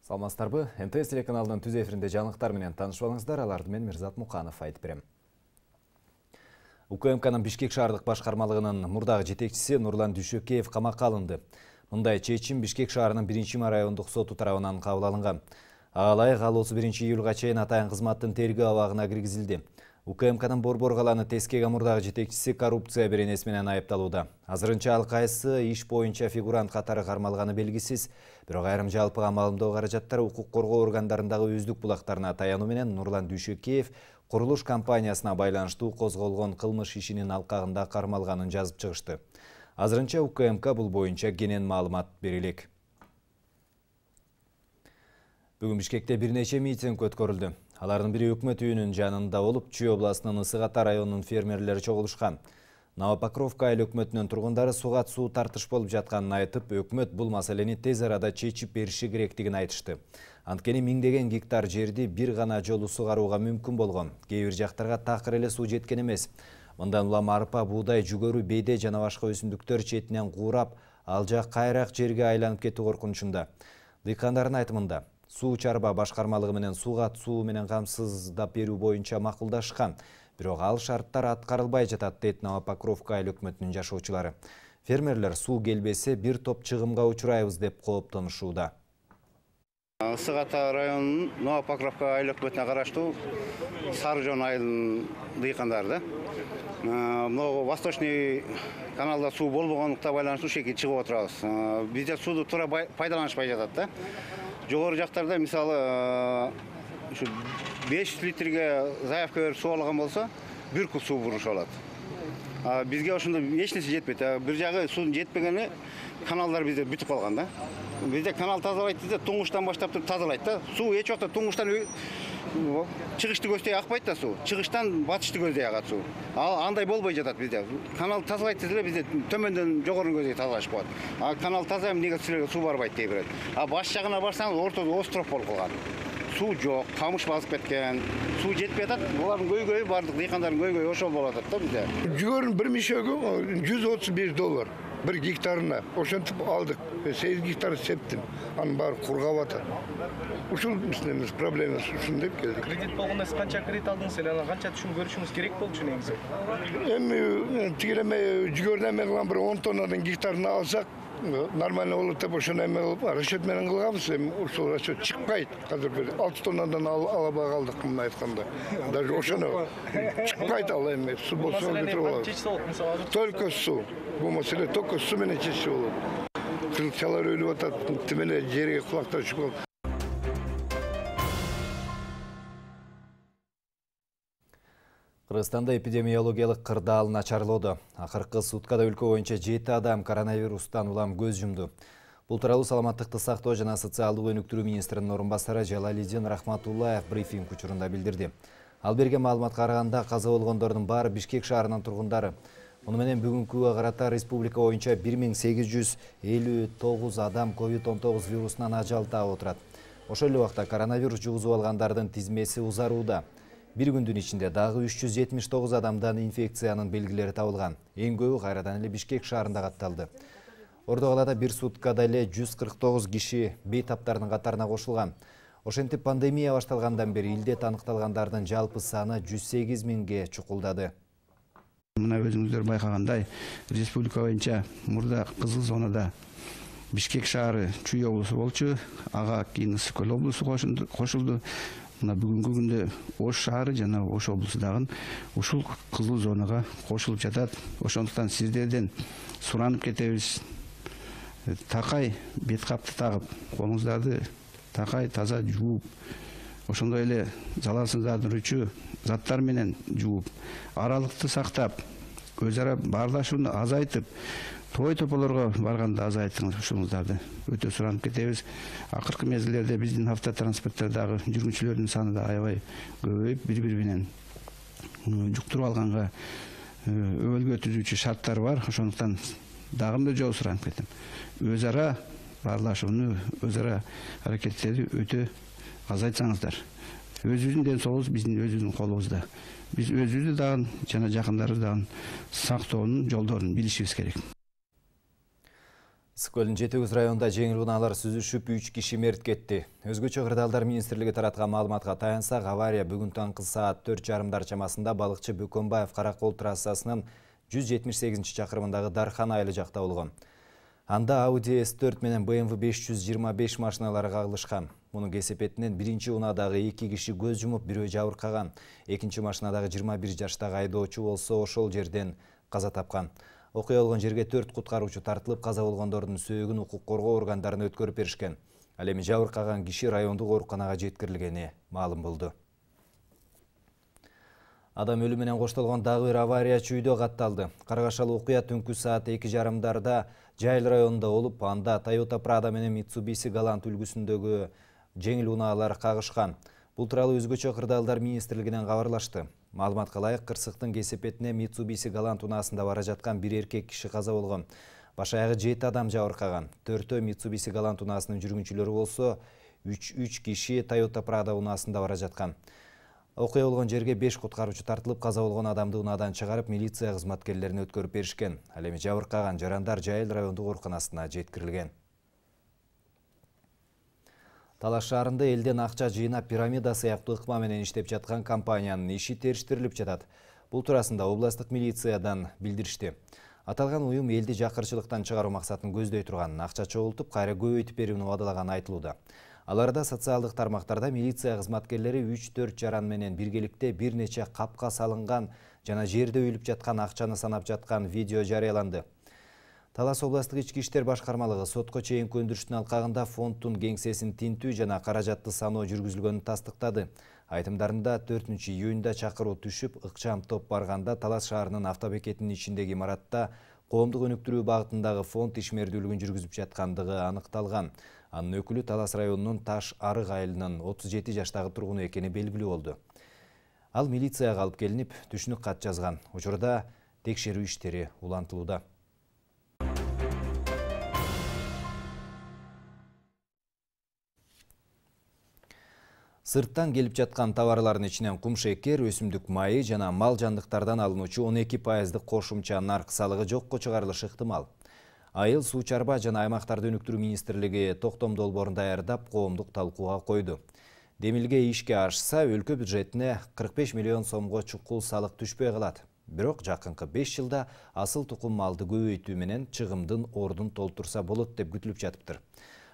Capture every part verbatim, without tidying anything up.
Саламатсыздарбы? эн тэ эс телеканалынын түз эфиринде жаңылыктар менен таанышып алыңыздар. Аларды мен Мирзат Муканов айтып берем. У К М К'нын Бишкек шаардык башкармалыгынын мурдагы жетекчиси Нурлан Дүйшөкеев камакка алынды. Мындай чечим Бишкек шаарынын биринчи райондук соту тарабынан кабыл алынган. Ага ылайык ал отуз биринчи июлга чейин атайын кызматтын тергөө абагына киргизилди. У К М К'нын Борбор каланы Тескеге мурдагы жетекчиси коррупция беренеси менен айыпталууда. Азырынча ал кайсы иш боюнча фигурант катары кармалганы белгисиз. Бирок айрым жалпы камалымдоо каражаттар укук коргоо органдарындагы өздүк булактарына таянуу менен Нурлан Дүйшөкеев курулуш компаниясына байланыштуу козголгон кылмыш ишинин алкагында кармалганын жазып чыгышты. Азырынча У К М К бул боюнча кенен маалымат бере элек. Бүгүн Бишкекте бир нече митинг өткөрүлдү. Алардын бири өкмөт үйүнүн жанында болуп, Чүй областынын Ысык Ата районунун фермерлери чогулушкан. Новопокровка айыл өкмөтүнүн тургундары сугат суу тартыш болуп жатканын айтып, өкмөт бул маселени тез арада чечип бериши керектигин айтышты. Анткени миңдеген гектар жерди бир гана жолу сугарууга мүмкүн болгон. Кээ бир жактарга такыр эле суу жеткен эмес. Мындан улам арпа, буудай, жүгөрү, бейде жана башка өсүмдүктөр четинен куурап, ал жак кайрак жерге айланып кетүү коркунучунда. Дыйкандардын айтымында, суу чарба башкармалыгы менен сугат суу менен камсыздап берүү боюнча макулдашкан. Бирок ал шарттар аткарылбай жатат, дейт Новопокровка айыл өкмөтүнүн жашоочулары. Фермерлер суу келбесе бир топ чыгымга учурайбыз деп кооптонушууда. Ысык Ата районунун Новопокровка айыл өкмөтүнө караштуу Сары Жоон айылынын дыйкандары да. Могу Восточный каналда суу болбогондукка байланыштуу ушеке чыгып отурабыз. Бизде сууду туура пайдаланышпай жатат да. Жогору жактарда мисалы ушу беш жүз литрге заявка берип суу алган болсо, бир куб суу бурушуп алат. А бизге ошондо эч нерсе жетпейт. Бир жагы суунун жетпегени каналдар бизде бүтүп калган да. Бизде канал тазалайт десе, туңуштан баштап туруп тазалайт да. Суу эч убакта туңуштан чыгышты көздөй акпайт да суу. Чыгыштан батышты көздөй агат суу. Ал андай болбой жатат бизде. Канал тазалайт десе бизде төмөндөн жогору көздөй тазалашып коет. А канал таза эмнеге силерге суу барбайт дей берет. А баш жагына барсаңыз ортодо остров болуп калган. Суу жок, камыш басып кеткен. Суу жетпей атат. Булардын көйгөйү бардык дыйкандардын көйгөйү ошол болуп атат да бизде. Жүгөрүн бир мишөгү жүз отуз беш доллар. Bir gektarına, oşantıp aldık. sekiz gektar septim. Anın bari kurgav atar. Uşul misiniz problemimiz uşun deyip geldik. Kredit bolganda siz kança kredit aldınız, ele kança düşün görüşünüz gerek boldu şu negisi? Hem tigireme jügörden men bir on tonnadan gektarını alsak, normalde olup da boşuna emek olup, raşet menen kılgamız, uşul raşet çıkmaydı. Kadir bir altı tonnadan alaba kaldık bunu aytkanda. Даже oşana çıkmaydı al emek, su bolsa götürüp alır. Только su. Bu mesele только su menen çeşit olur. Kılıçalar ölüp atat, timene жерге kulaklar çıkıyor. Кыргызстанда эпидемиологиялык кырдаал начарлоодо. Акыркы суткада өлкө боюнча жети адам коронавирустан улам көз жумду. Бул тууралуу саламаттыкты сактоо жана социалдык өнүктүрүү министринин орун басары Жалалидин Рахматуллаев брифинг учурунда билдирди. Ал берген маалыматка караганда каза болгондордун баары Бишкек шаарынын тургундары. Муну менен бүгүнкүгө карата республика боюнча бир миң сегиз жүз элүү тогуз адам ковид он тогуз вирусунан ажал таап отурат. Ошол эле убакта коронавирус жугузуп алгандардын тизмеси узарууда. Bir gündün içinde dagы үч жүз жетимиш тогуз адамдан инфекциянын белгилери табылган. Эң көбү кайрадан эле Бишкек шаарында катталды. Ордо калада бир суткада эле жүз кырк тогуз киши бейтаптардын катарына кошулган. Ошентип пандемия башталгандан бери илдет аныкталгандардын жалпы саны жүз сегиз миңге чукулдады. Мына өзүңүздөр байкагандай, республика боюнча мурда кызыл зонада Бишкек шаары Чүй облусу болчу, ага кийин Ысык Көл облусу кошулду. Мына бүгүнкү күндө Ош шаары жана Ош облусу дагы ушул кызыл зонага кошулуп жатат. Ошондуктан сиздерден суранып кетебиз. Такай бет капты тагып, колуңуздарды такай таза жууп, ошондой эле залалсыздандыруучу заттар менен жууп, аралыкты сактап, өз ара баарлашууну азайтып, той тополорго барганда азайтыңыз ушуңуздарды. Өтө суранып кетебиз. Акыркы мезгилдерде биздин автотранспорттордогу жүргүнчүлөрдүн саны да аябай көбөйүп, бири-бири менен жуктуруп алганга өбөлгө түзүүчү шарттар бар. Ошондуктан дагы да жол суранып кетем. Өз ара баарлашууну, өз ара аракеттерди өтө азайтсаңыздар. Өзүбүздүн ден соолугубуз биздин өзүбүздүн колубузда. Биз өзүбүздү дагы жана жакындарыбызды дагы сактоонун жолдорун билишибиз керек. Ысык көлдүн жети жүз районунда жеңил унаалар сүзүшүп үч киши мерт кетти. Өзгөчө кырдаалдар министрлиги тараткан маалыматка таянсак, авария бүгүн таңкы саат төрт жарымдар чамасында балыкчы Бөкөнбаев Каракол трассасынын жүз жетимиш сегизинчи чакырымындагы Дархан айылы жакта болгон. Анда Audi эс төрт менен бэ эм вэ беш жүз жыйырма беш машиналары кагылышкан. Мунун кесепетинен биринчи унаадагы эки киши көз жумуп, бирөө жабыркаган. Экинчи машинадагы жыйырма бир жаштагы айдоочу болсо ошол жерден каза тапкан. Окуя болгон жерге төрт куткаруучу тартылып, каза болгондордун сөөгүн укук коргоо органдарына өткөрүп беришкен. Ал эми жабыркаган киши райондук ооруканага жеткирилгени маалым болду. Адам өлүмү менен коштолгон дагы бир авария Чүйдө катталды. Каргашалы окуя түнкү саат эки жарымдарда Жайыл районунда болуп, анда Toyota Prado менен Mitsubishi Galant үлгүсүндөгү жеңил унаалар кагышкан. Бул тууралуу өзгөчө кырдаалдар министрлигинен кабарлашты. Маалыматка ылайык, кырсыктын кесепетине Mitsubishi Galant унаасында бара жаткан бир эркек киши каза болгон. Баш аягы жети адам жабыркаган. Төртөө Mitsubishi Galant унаасынын жүргүнчүлөрү болсо, үч киши Toyota Prado унаасында бара жаткан. Окуя болгон жерге беш куткаруучу тартылып, каза болгон адамды унаадан чыгарып, милиция кызматкерлерине өткөрүп беришкен. Ал эми жабыркаган жарандар Жайыл райондук ооруканасына жеткирилген. Талаш шаарында элден акча жыйнап, пирамида сыяктуу ыкма менен иштеп жаткан компаниянын иши териштирилип жатат. Бул туурасында областык милициядан билдиришти. Аталган уюм элди жакырчылыктан чыгаруу максатын көздөй турганын, акча чогултуп, кайра көбөйтүп берүүнү убадалаганы айтылууда. Аларда социалдык тармактарда милиция кызматкерлери үч төрт жаран менен биргеликте бир нече капка салынган жана жерде өйлүп жаткан акчаны санап жаткан видео жарыяланды. Талас областык ички иштер башкармалыгы сотко чейинки өндүрүштүн алкагында фонддун кеңсесин тинтүү жана каражатты саноо жүргүзүлгөнүн тастыктады. Айтымдарында төртүнчү июнда чакыруу түшүп, ыкчам топ барганда Талас шаарынын автобекетинин ичиндеги имаратта коомдук өнүктүрүү багытындагы фонд ишмердүүлүгүн жүргүзүп жаткандыгы аныкталган. Анын өкүлү Талас районунун Таш Арык айылынын отуз жети жаштагы тургуну экени белгилүү болду. Ал милицияга алып келинип, түшүнүк кат жазган. Учурда текшерүү иштери улантылууда. Сырттан келип жаткан товарлардын ичинен кум шекер, өсүмдүк майы жана мал жандыктардан алынуучу он эки пайыздык кошумча нарк салыгы жокко чыгарылышы ыктымал. Айыл суу чарба жана аймактарды өнүктүрүү министрлиги токтом долбоорун даярдап, коомдук талкууга койду. Демилге ишке ашса, өлкө бюджетине кырк беш миллион сомго чукул салык түшпөй калат. Бирок жакынкы беш жылда асыл тукум малды көбөйтүү менен чыгымдын ордун толтурса болот деп күтүлүп жатыптыр.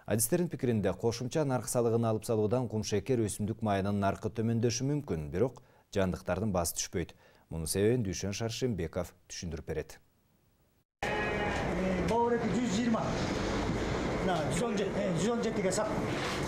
Адистердин пикиринде, кошумча нарк салыгын алып салуудан кум шекер, өсүмдүк майынын наркы төмөндөшү мүмкүн, бирок жандыктардын баасы түшпөйт. Мунун себебин Дүйшөн Шаршембеков түшүндүрүп берет.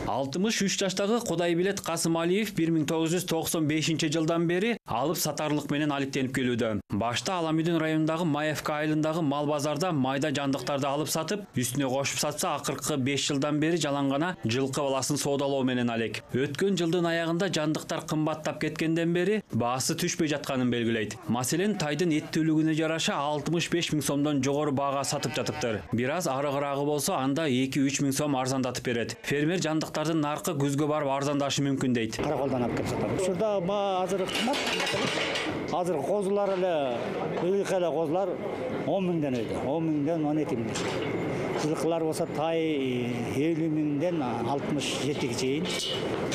алтымыш үч жаштагы Кудайбилет Касымалиев бир миң тогуз жүз токсон бешинчи жылдан бери алып сатарлык менен алектенип келүүдө. Башта Аламүйдүн районундагы Маевка айылындагы мал базарда майда жандыктарды алып сатып, үстүнө кошуп сатса, акыркы беш жылдан бери жалаң гана жылкы баласын соодалоо менен алек. Өткөн жылдын аягында жандыктар кымбаттап кеткенден бери баасы түшпөй жатканын белгилейт. Маселен, тайдын эттүүлүгүнө жараша алтымыш беш миң сомдон жогору баага сатып жатыптыр. Бир аз арыгыраагы болсо, анда эки үч миң сом арзандатып берет. Фермер жандыктардын наркы күзгө барып арзандашы мүмкүн дейт. Караколдон алып келип сатам. Учурда баа азыр кымбат. Азыр козулар эле, ыйык эле козулар он миңден өйдө. он миңден он эки миң. Жылкылар болсо тай элүү миңден алтымыш жетиге чейин.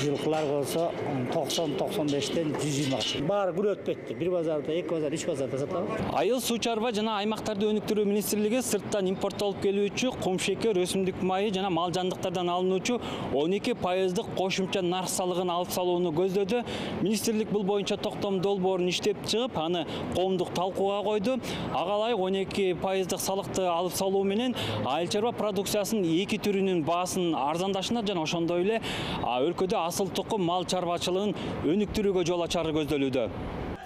Жылкылар болсо токсон токсон бештен жүз жыйырмага чейин. Баары күрөт кетти. Бир базарда, эки базар, үч базарда сатабыз. Айыл суу чарба жана аймактарды өнүктүрүү министрлиги сырттан импорттолуп келүүчү кум шекер, өсүмдүк майы жана мал жандыктардан алынуучу он эки пайыздык кошумча нарк салыгын алып салууну көздөдү. Министрлик бул боюнча токтом долбоорун иштеп чыгып, аны коомдук талкууга койду. Ага ылайык он эки пайыздык салыкты алып салуу менен айыл чарба продукциясынын эки түрүнүн баасын арзандашына жана ошондой эле өлкөдө асыл тукум мал чарбачылыгын өнүктүрүүгө жол ачары көздөлүүдө.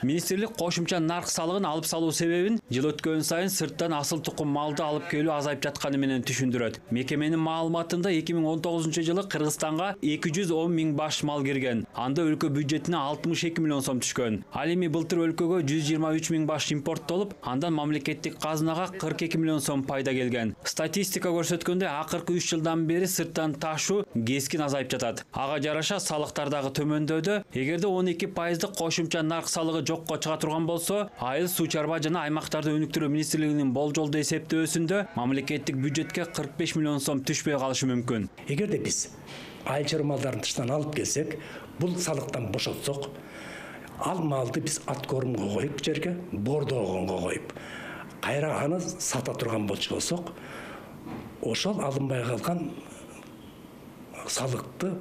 Министрлик кошумча нарк салыгын алып салуу себебин жыл өткөн сайын сырттан асыл тукум малды алып келүү азайып жатканы менен түшүндүрөт. Мекеменин маалыматында эки миң он тогузунчу жылы Кыргызстанга эки жүз он миң баш мал кирген. Анда өлкө бюджетине алтымыш эки миллион сом түшкөн. Ал эми былтыр өлкөгө жүз жыйырма үч миң баш импорттолуп, андан мамлекеттик казынага кырк эки миллион сом пайда келген. Статистика көрсөткөндөй, акыркы үч жылдан бери сырттан ташуу кескин азайып жатат. Ага жараша салыктар дагы төмөндөдө. Эгерде он эки пайыздык кошумча нарк салыгы жокко чыга турган болсо, айыл суу чарба жана аймактарды өнүктүрүү министрлигинин болжолдуу эсептөөсүндө мамлекеттик бюджетке кырк беш миллион сом түшпөй калышы мүмкүн. Эгерде биз айыл чарба малдарын тыштан алып келсек, бул салыктан бошотсок, ал малды биз ат корумго коюп жерге, бордогонго коюп, кайра аны сата турган болчу болсок, ошол алынбай калган салыкты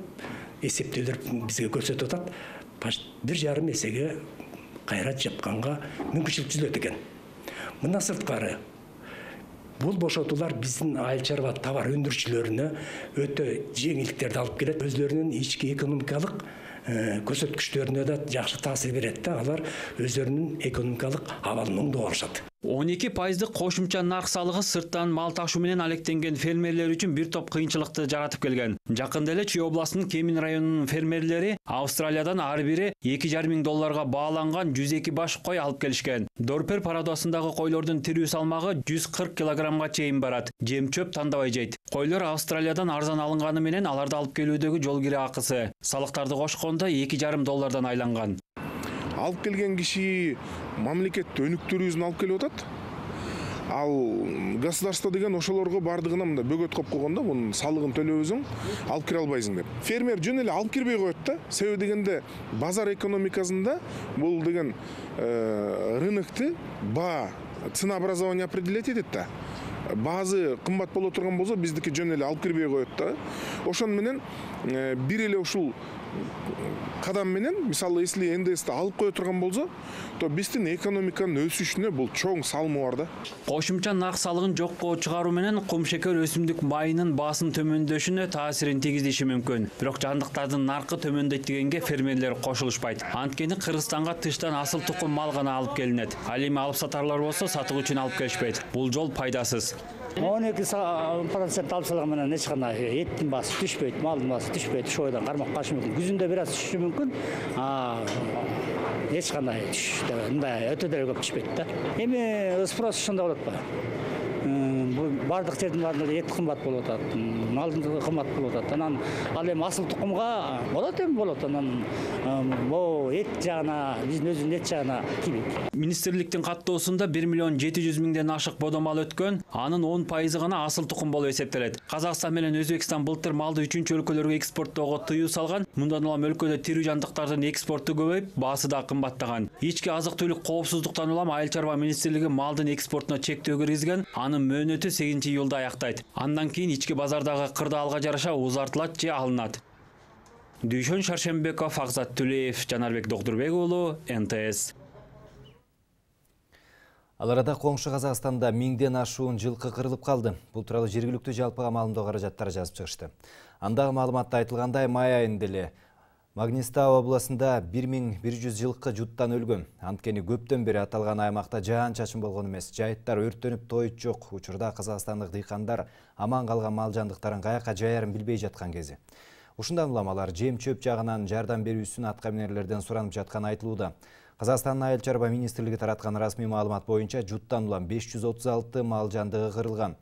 эсептөөлөр бизге көрсөтүп атат. бир жарым эсеге кайра жапканга мүмкүнчүлүк түзүлөт экен. Мындан сырткары бул бошотуулар биздин айыл чарба товар өндүрүүчүлөрүнө өтө жеңилдиктерди алып келет. Өзлөрүнүн ички экономикалык көрсөткүчтөрүнө да жакшы таасир берет да, алар өздөрүнүн экономикалык абалын оңдоп алышат. он эки пайыздык кошумча нарк салыгы сырттан мал ташуу менен алектенген фермерлер үчүн бир топ кыйынчылыкты жаратып келген. Жакында эле Чүй областынын Кемин районунун фермерлери Австралиядан ар бири эки жарым миң долларга бааланган жүз эки баш кой алып келишкен. Дорпер парадосундагы койлордун тирүү салмагы жүз кырк килограммга чейин барат. Жем чөп тандабай жейт. Койлор Австралиядан арзан алынганы менен аларды алып келүүдөгү жол кире акысы салыктарды кошкондо эки жарым доллардан айланган. Алып келген киши мамлекет өнүктүрүүсүн алып келип атат. Ал государство деген ошолорго бардыгына мындай бөгөт коюп койгон да, мунун салыгын төлөбөсүң, алып кире албайсың деп. Фермер жөн эле алып кирбей коет да. Себеби дегенде базар экономикасында бул деген рынокты баа, ценообразование определять этет да. Баазы кымбат боло турган болсо, биздики жөн эле алып кирбей коет да. Ошон менен бир эле ушул кадам менен, мисалы, если эн дэ эсти алып кое турган болсо, то биздин экономиканын өсүшүнө бул чоң салымы бар да. Кошумча нарк салыгын жокко чыгаруу менен кумшекер өсүмдүк майынын баасын төмөндөшүнө таасирин тийгизиши мүмкүн. Бирок жандыктардын наркы төмөндөйт дегенге фермерлер кошулушпайт. Анткени Кыргызстанга тыштан асыл тукум мал гана алып келинет. Ал эми алып сатарлар болсо сатуу үчүн алып келишпейт. Бул жол пайдасыз. он эки процент алып салган менен эч кандай эттин баасы түшпөйт, малдын баасы түшпөйт. Ошол бойдон кармак калышы мүмкүн. Күзүндө бир аз түшүшү мүмкүн. А эч кандай түш деп мындай өтө деле көп түшпөйт да. Эми спрос ошондой болот ба? Бардык жердин баарында эт кымбат болуп атат, малдын кымбат болуп атат. Анан ал эми асыл тукумга болот эми болот. Анан бул эт жагына, биздин өзүбүздүн эт жагына тийбейт. Министрликтин каттоосунда бир миллион жети жүз миңден ашык бодомал өткөн, анын он пайызы гана асыл тукум болуп эсептелет. Казакстан менен Өзбекстан былтыр малды үчүнчү өлкөлөргө экспорттоого тыюу салган. Мындан улам өлкөдө тирүү жандыктардын экспорту көбөйүп, баасы да кымбаттаган. Ички азык-түлүк коопсуздуктан улам Айыл чарба министрлиги малдын экспортуна чектөө киргизген. Анын мөөнөтү сегизинчи июлда аяктайт. Андан кийин ички базардагы кырдаалга жараша узартылат же алынат. Дүйшөн Шаршембеков, Акзат Түлеев, Жанарбек Докдурбек уулу, эн тэ эс. Ал арада коңшу Казакстанда миңден ашуун жылкы кырылып калды. Бул тууралуу жергиликтүү жалпыга маалымдоо каражаттары жазып чыгышты. Андагы маалыматта айтылгандай, май айында эле Магнистау областында бир миң бир жүз жылкы жуттан өлгөн. Анткени көптөн бери аталган аймакта жаан-чачын болгон эмес. Жайыттар өрттөнүп тоyut жок. Учурда казакстандык дыйкандар аман калган мал жандыктарын каяка жаярын билбей жаткан кези. Ушундан улам алар жем чөп жагынан жардам берүүсүн атка минерлерден суранып жатканы айтылууда. Казакстандын Айыл чарба министрлиги тараткан расмий маалымат боюнча жуттан улам беш жүз отуз алты мал жандыгы кырылган.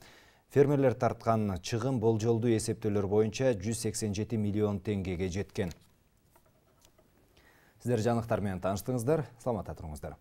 Фермерлер тарткан чыгым болжолдуу эсептөөлөр боюнча жүз сексен жети миллион теңгеге жеткен. Сиздер жаңылыктар менен тааныштыңыздар. Саламатта туруңуздар.